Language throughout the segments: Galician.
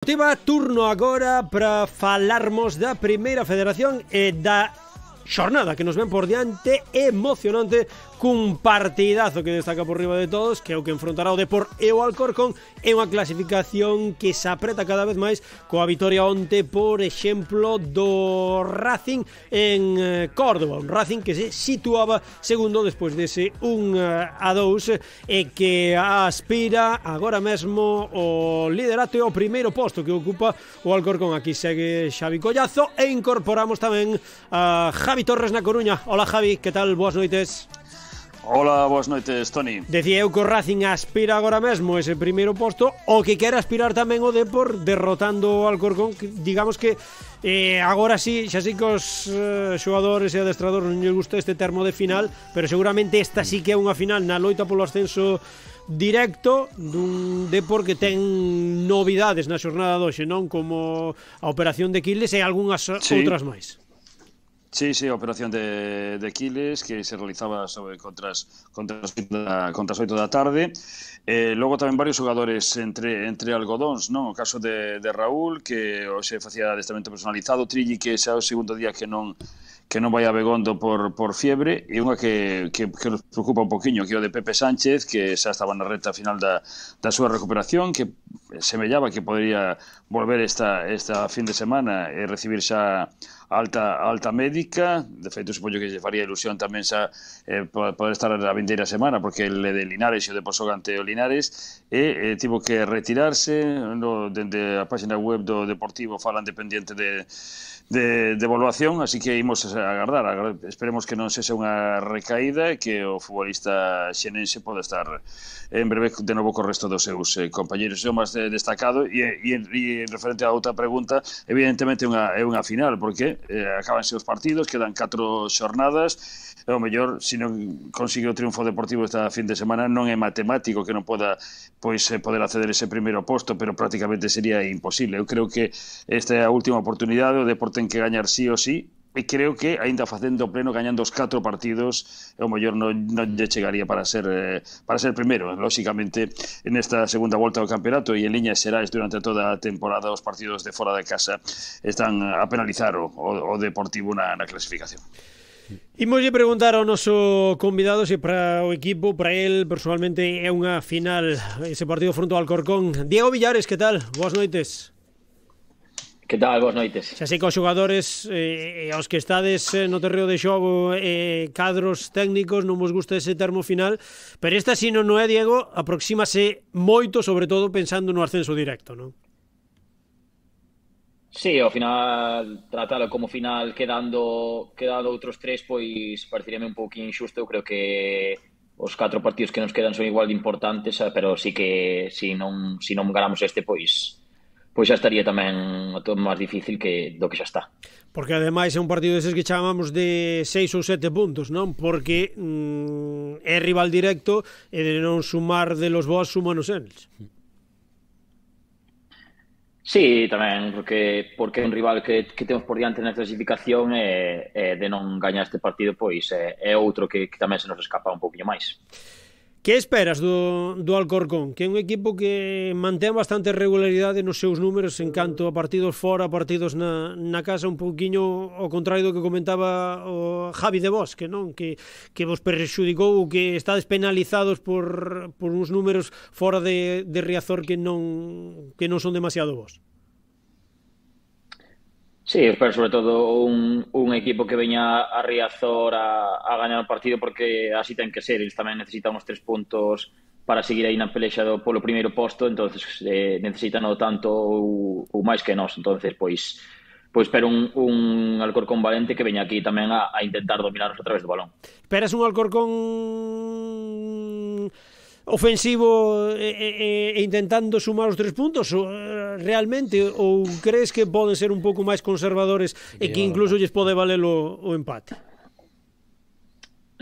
Deportiva, turno agora para falarmos da Primeira Federación e da xornada que nos ven por diante, emocionante, cun partidazo que destaca por riba de todos, que é o que enfrontará o Depor e o Alcorcón, é unha clasificación que se apreta cada vez máis coa vitoria onte, por exemplo, do Racing en Córdoba, un Racing que se situaba segundo despois dese 1-2 e que aspira agora mesmo o liderato e o primeiro posto que ocupa o Alcorcón. Aquí segue Xavi Collazo e incorporamos tamén a Javi Torres na Coruña. Hola Javi, que tal? Boas noites. Hola, boas noites, Toni. Decía eu que o Racing aspira agora mesmo ese primeiro posto, o que quere aspirar tamén o Depor derrotando o Alcorcón, que, digamos que agora sí, xa sei que os xogadores e adestradores non lles gusta este termo de final, pero seguramente esta sí que é unha final na loita polo ascenso directo dun Depor que ten novidades na xornada doxe, non? Como a operación de Quiles e algunhas outras máis. Sí, a operación de Quiles que se realizaba contra as 8 da tarde. Logo tamén varios xogadores entre algodóns, non? O caso de Raúl, que hoxe facía adestramento personalizado, Trilli, que xa é o segundo día que non vai a Begondo por fiebre, e unha que nos preocupa un poquinho, que é o de Pepe Sánchez, que xa estaba na reta final da súa recuperación, que semellaba que podría volver esta fin de semana e recibir xa alta médica. De feito, supoño que lle faría ilusión tamén xa poder estar a vindeira semana, porque ele de Linares e o de Posogante o Linares, e tivo que retirarse. Dende a página web do Deportivo falan dependiente de evaluación, así que imos a agardar. Esperemos que non sexa unha recaída e que o futbolista xenense pode estar en breve de novo co resto dos seus compañeros. É o máis destacado, e referente a outra pregunta, evidentemente é unha final, porque acabanse os partidos, quedan 4 xornadas, e o mellor, se non consigue o triunfo deportivo esta fin de semana, non é matemático que non poda poder acceder ese primeiro posto, pero prácticamente sería imposible. Eu creo que esta é a última oportunidade, o Depor ten que gañar sí ou sí, e creo que, aínda facendo pleno, gañando os 4 partidos, o mellor non lle chegaría para ser primeiro. Lóxicamente, nesta segunda volta do campeonato e en liñas xerais durante toda a temporada, os partidos de fora de casa están a penalizar o Deportivo na clasificación. Imoslle preguntar ao noso convidado se para o equipo, para el personalmente, é unha final ese partido fronte ao Alcorcón. Diego Villares, que tal? Boas noites. Que tal? Boas noites. Xa sei que os xogadores aos que estades no terreo de xogo, cadros técnicos, non vos gusta ese termo final, pero esta, si non é, Diego, aproxímase moito, sobre todo pensando no ascenso directo, non? Sí, ao final, tratalo como final quedando outros 3, pois pareceríame un pouquinho injusto. Eu creo que os 4 partidos que nos quedan son igual de importantes, pero sí que se non ganamos este, pois xa estaría tamén todo máis difícil do que xa está. Porque ademais é un partido deses que chamamos de 6 ou 7 puntos, non? Porque é rival directo e de non sumar de los vos, sumanos eles. Sí, tamén, porque é un rival que temos por diante na clasificación, e de non gañar este partido, pois é outro que tamén se nos escapa un pouquinho máis. Que esperas do Alcorcón? Que é un equipo que mantén bastante regularidade nos seus números en canto a partidos fora, partidos na casa, un pouquiño ao contrario do que comentaba o Javi de Bosque, non? Que vos perxudicou, que estades penalizados por uns números fora de Riazor que non son demasiado bons. Sí, espero sobre todo un equipo que veña a Riazor a gañar o partido, porque así ten que ser. Eles tamén necesitan os 3 puntos para seguir aí na pelexa polo primeiro posto, entonces necesitan o tanto ou máis que nós. Entonces, pois espero un Alcorcón valente que veña aquí tamén a intentar dominarnos a través do balón. Esperas un Alcorcón ofensivo e intentando sumar os 3 puntos realmente, ou crees que poden ser un pouco máis conservadores e que incluso lles pode valer o empate?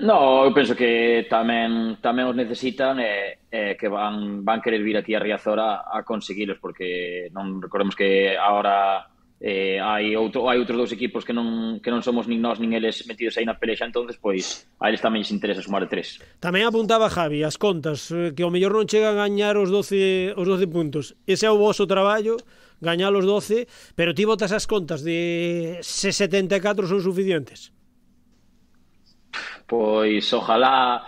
No, eu penso que tamén os necesitan, que van querer vir aquí a Riazor a conseguilos, porque non recordemos que agora hai outros dous equipos que non somos nin nós nin eles metidos aí na pelexa, entonces pois a eles tamén lles interesa sumar de 3. Tamén apuntaba Javi as contas, que ao mellor non chegan a gañar os 12 puntos. Ese é o voso traballo, gañar os 12, pero ti botas as contas de se 74 son suficientes. Pois ojalá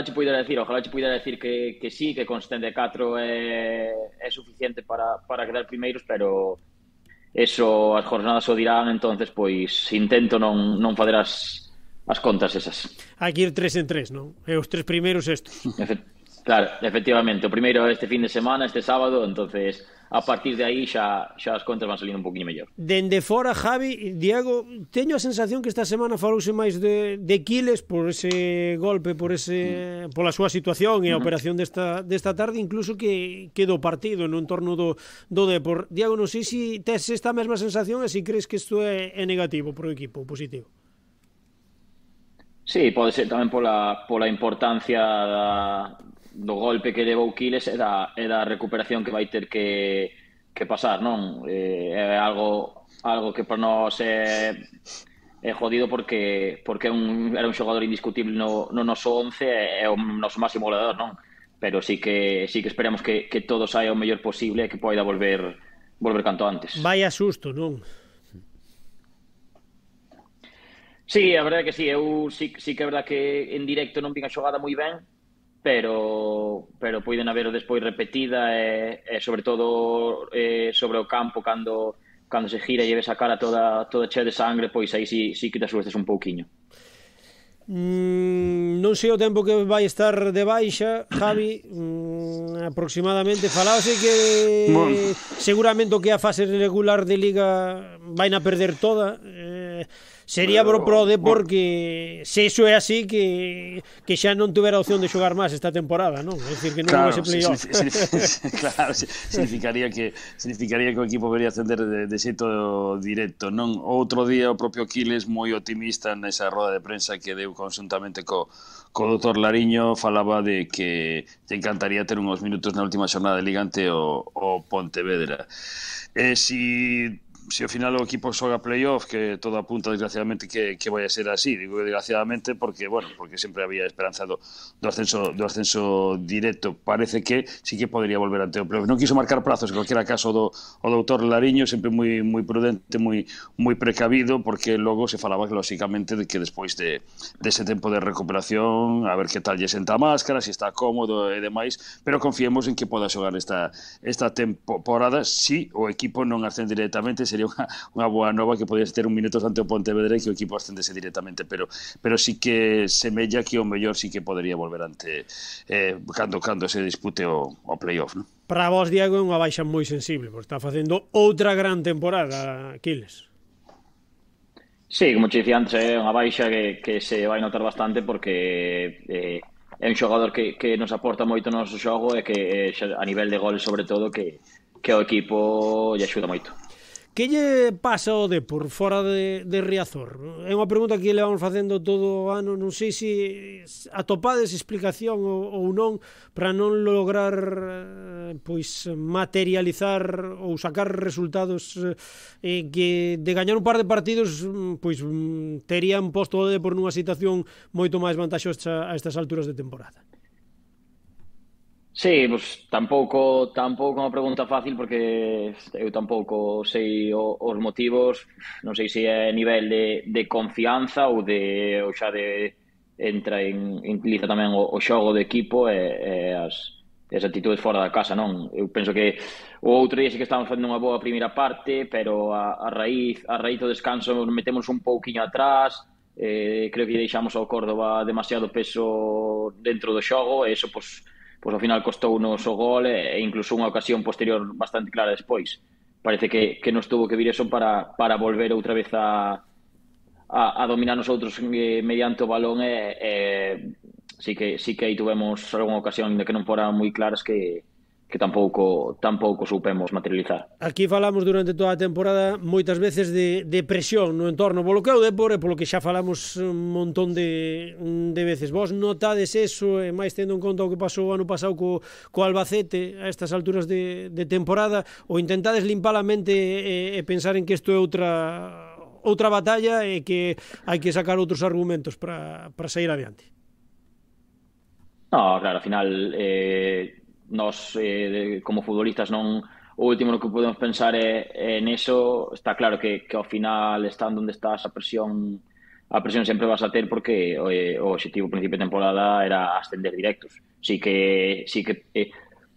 che puidera decir que sí, que con 74 é suficiente para quedar primeiros, pero eso as jornadas o dirán, entonces pois intento non fazer as contas esas. Aquí ir 3 en 3, non? E os 3 primeiros estos. Claro, efectivamente, o primeiro este fin de semana, este sábado, entonces a partir de aí xa as contas van salindo un poquinho mellor. Dende fora, Javi, Diego, teño a sensación que esta semana falouse máis de Quiles por ese golpe, pola súa situación e a operación desta tarde, incluso que do partido no entorno do Depor. Diego, non sei se tes esta mesma sensación e se crees que isto é negativo pro equipo, positivo. Sí, pode ser tamén pola importancia do golpe que levou Quiles e da recuperación que vai ter que pasar, non? É algo que para nós é jodido porque era un xogador indiscutible no noso 11 e é o noso máximo goleador, non? Pero sí que esperamos que todo saia o mellor posible e que poida volver canto antes. Vaya susto, non? Sí, a verdade que sí, eu sí que é verdade que en directo non vin a xogada moi ben, pero poden haber despois repetida e sobre todo sobre o campo cando se gira e ves a cara toda chea de sangre, pois aí sí que te asustes un pouquiño. Non sei o tempo que vai estar de baixa, Javi, aproximadamente falaose que seguramente o que a fase regular de Liga vai na perder toda. Sería pro Depor que se iso é así que xa non tuvera opción de xogar máis esta temporada, non? É dicir, que non houvese playoff. Claro, significaría que o equipo vería ascender de xeito directo, non? Outro día o propio Quiles, moi optimista nesa roda de prensa que deu conjuntamente co doutor Lariño, falaba de que te encantaría ter uns minutos na última xornada de Liga ante o Pontevedra. Se ao final o equipo xoga playoff, que todo apunta desgraciadamente que vai a ser así, digo desgraciadamente porque sempre había esperanza do ascenso directo, parece que sí que podría volver ante o playoff. Non quiso marcar prazos, en cualquiera caso o doutor Lariño, sempre moi prudente, moi precavido, porque logo se falaba que lógicamente de que despois dese tempo de recuperación, a ver que tal lle senta a máscara, se está cómodo e demais, pero confiemos en que poda xogar esta temporada. Si o equipo non ascende directamente, sería unha boa nova que podías ter un minutos ante o Pontevedra e que o equipo ascendese directamente, pero sí que semella que o mellor sí que podería volver ante cando se dispute o playoff, non? Para vos, Diego, é unha baixa moi sensible, porque está facendo outra gran temporada Quiles. Sí, como te dicía antes, é unha baixa que se vai notar bastante porque é un xogador que nos aporta moito no noso xogo e que a nivel de goles sobre todo que o equipo lle axuda moito. Que lle pasa ao Depor fora de Riazor? É unha pregunta que le vamos facendo todo o ano, non sei se atopades explicación ou non para non lograr pois materializar ou sacar resultados que de gañar un par de partidos pois terían posto o Depor nunha situación moito máis vantaxosa a estas alturas de temporada. Sí, pues tampouco é unha pregunta fácil porque eu tampouco sei os motivos, non sei se é nivel de confianza ou xa de entra en liza tamén o xogo do equipo e as actitudes fora da casa, non? Eu penso que o outro día sí que estábamos facendo unha boa primeira parte, pero a raíz do descanso metemos un pouquiño atrás, creo que deixamos ao Córdoba demasiado peso dentro do xogo e eso, pois ao final costounos o gol e incluso unha ocasión posterior bastante clara despois. Parece que nos tuvo que vir eso para volver outra vez a dominar nosotros mediante o balón sí que aí tuvemos algunha ocasión de que non foran moi claras que tampouco soupemos materializar. Aquí falamos durante toda a temporada moitas veces de presión no entorno polo que é o Dépor e polo que xa falamos un montón de veces. Vos notades eso, e máis tendo en conta o que pasou o ano pasado co Albacete a estas alturas de temporada, ou intentades limpar a mente e pensar en que isto é outra batalla e que hai que sacar outros argumentos para sair adiante? No, claro, ao final nós como futbolistas non, o último no que podemos pensar é neso. Está claro que ao final, estando onde estás, a presión sempre vas a ter, porque o objetivo principio de temporada era ascender directos. Sí que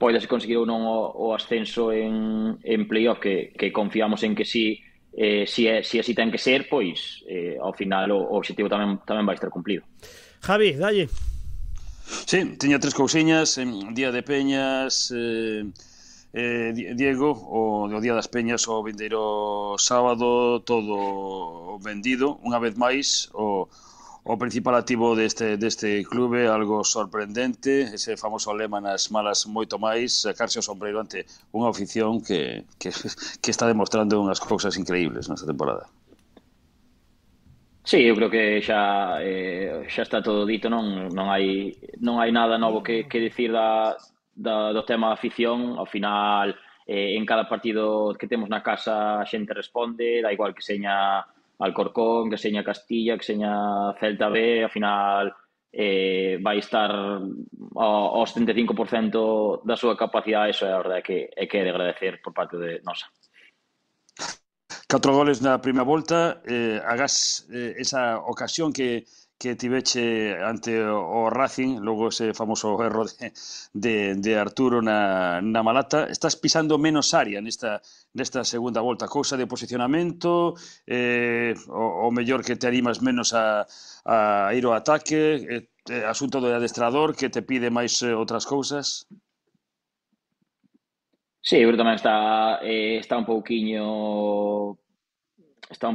podes conseguir ou non o ascenso en playoff, que confiamos en que si así ten que ser, pois ao final o objetivo tamén vai estar cumplido. Javi, dalle. Sí, tiña 3 cousiñas. Día de Peñas, Diego, o Día das Peñas o vindeiro sábado, todo vendido. Unha vez máis, o principal activo deste clube, algo sorprendente, ese famoso lema nas malas moito máis, sacarse o sombreiro ante unha afición que está demostrando unhas cousas increíbles nesta temporada. Sí, eu creo que xa está todo dito, non hai nada novo que dicir do tema da afición. Ao final, en cada partido que temos na casa a xente responde, da igual que seña Alcorcón, que seña Castilla, que seña Celta B, ao final vai estar ao 75% da súa capacidade. Eso é a verdade que é de agradecer por parte de nosa. 4 goles na primeira volta, agás esa ocasión que tiveche ante o Racing, logo ese famoso erro de Arturo na Malata. Estás pisando menos área nesta segunda volta, cousa de posicionamento, o mellor que te animas menos a ir ao ataque, asunto do adestrador que te pide máis outras cousas? Sí, eu creo que tamén está un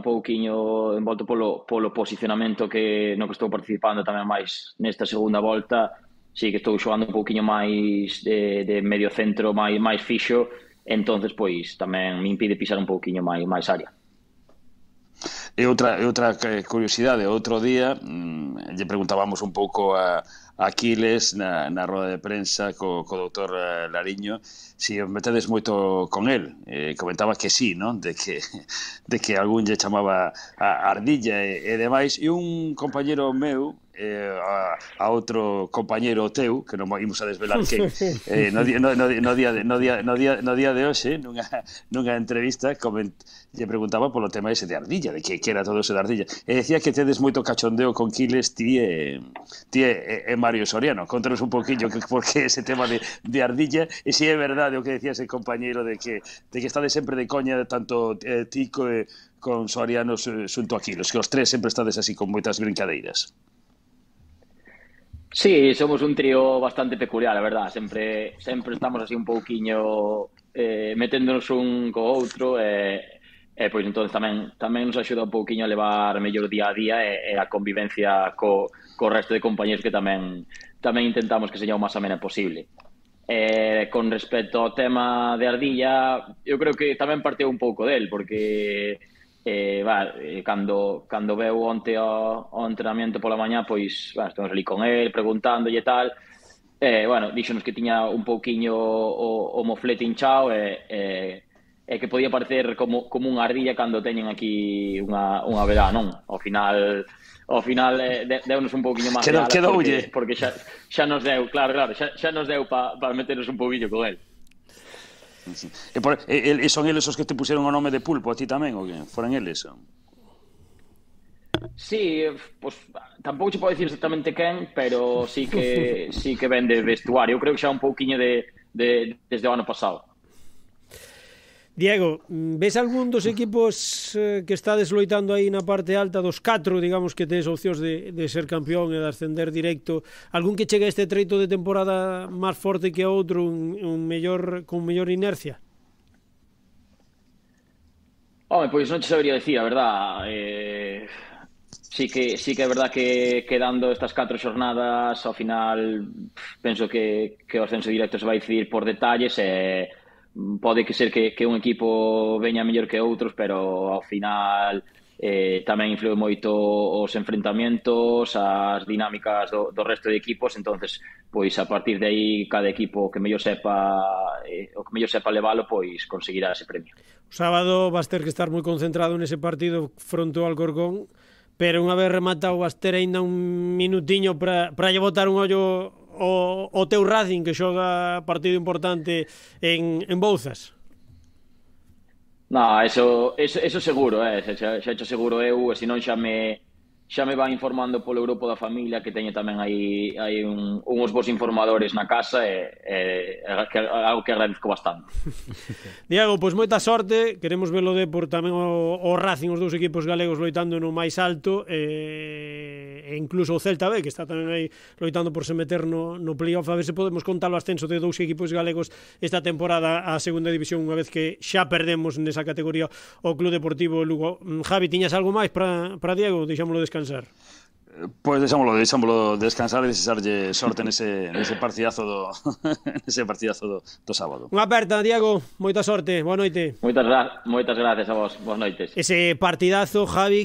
pouquiño envolto polo posicionamento no que estou participando tamén máis nesta segunda volta. Sí que estou xogando un pouquiño máis de medio centro, máis fixo, entonces pois tamén me impide pisar un pouquiño máis área. E outra curiosidade, outro día lle preguntábamos un pouco a Aquiles na roda de prensa co doutor Lariño si os metedes moito con el. Comentaba que sí, non? De que algún lle chamaba a ardilla e demais, e un compañeiro meu a outro compañeiro teu, que non imos a desvelar que no día de hoxe, nunha entrevista, lle preguntaba polo tema ese de ardilla, de que era todo ese de ardilla, e decía que tedes moito cachondeo con Quiles ti e Mario Soriano. Contanos un poquillo por que ese tema de ardilla, e se é verdade o que decía ese compañeiro de que estades sempre de coña, tanto Tico e con Soriano xunto a Quiles, que os tres sempre estades así con moitas brincadeiras. Sí, somos un trío bastante peculiar, a verdad. Sempre estamos así un pouquiño meténdonos un co outro, pois entón tamén nos axuda un pouquiño a levar mellor día a día e a convivencia co resto de compañeros, que tamén intentamos que seña o máis amena posible. Con respecto ao tema de ardilla, eu creo que tamén parteu un pouco del, porque cando veu onte ao entrenamiento pola mañá, pois estamos ali con el, preguntándolle e tal, díxonos que tiña un pouquiño o moflete hinchao e que podía parecer como unha ardilla cando teñen aquí unha vedá, non? Ao final deunos un pouquiño máis de alas, porque xa nos deu, claro, xa nos deu para meternos un pouquiño con el. Sí. E son eles os que te puseron o nome de Pulpo a ti tamén, ou que? Foran eles? Sí, pues tampouco se pode dicir exactamente quen, pero sí que ven de vestuario. Eu creo que xa un pouquiño desde o ano pasado. Diego, ves algún dos equipos que está desloitando aí na parte alta dos 4, digamos, que tes opcións de ser campeón e de ascender directo? Algún que chegue a este treito de temporada máis forte que a outro, con mellor inercia? Pois non te sabería dicir, a verdad. Sí que é verdad que quedando estas 4 xornadas, ao final penso que o ascenso directo se vai decidir por detalles e pode que ser que un equipo veña mellor que outros, pero ao final tamén influe moito os enfrentamentos, as dinámicas do resto de equipos, entonces pois a partir de aí cada equipo que mellor sepa leválo, pois conseguirá ese premio. O sábado vas ter que estar moi concentrado nese partido fronte ao Alcorcón, pero unha vez rematado vas ter aínda un minutiño para lle botar un ollo o teu Racing, que xoga partido importante en Bouzas. No, eso seguro, xa hecho seguro eu, e senón xa me van informando polo grupo da familia, que teño tamén aí uns bons informadores na casa, e algo que agradezco bastante. Diego, pois moita sorte, queremos velo por tamén o Racing, os dous equipos galegos loitando no máis alto, e incluso o Celta B, que está tamén aí loitando por se meter no playoff, a ver se podemos contar o ascenso de dous equipos galegos esta temporada á segunda división, unha vez que xa perdemos nesa categoría o Club Deportivo Lugo. Javi, tiñas algo máis para Diego? Deixámoslo descansar. Pois deixámoslo descansar e desexarlle sorte nese partidazo do sábado. Unha aperta, Diego, moita sorte, boa noite. Moitas gracias a vos, boas noites. Ese partidazo, Javi,